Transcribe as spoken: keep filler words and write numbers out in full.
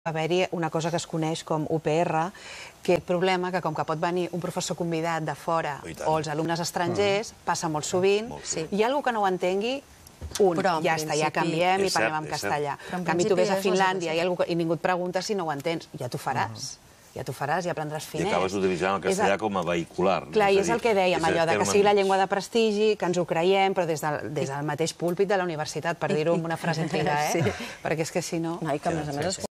haver-hi una cosa que es coneix com U P R, que el problema que com que pot venir un professor convidat de fora o els alumnes estrangers, passa molt sovint, hi ha algú que no ho entengui, un, ja està, ja canviem i parlem en castellà. En canvi, tu ves a Finlàndia i ningú et pregunta si no ho entens, ja t'ho faràs. Ja t'ho faràs, ja aprendràs finès. I acabes utilitzant el castellà com a vehicular. Clar, i és el que dèiem, allò que sigui la llengua de prestigi, que ens ho creiem, però des del mateix púlpit de la universitat, per dir-ho amb una frase antiga, eh? Perquè és que si no... No, i que a més a més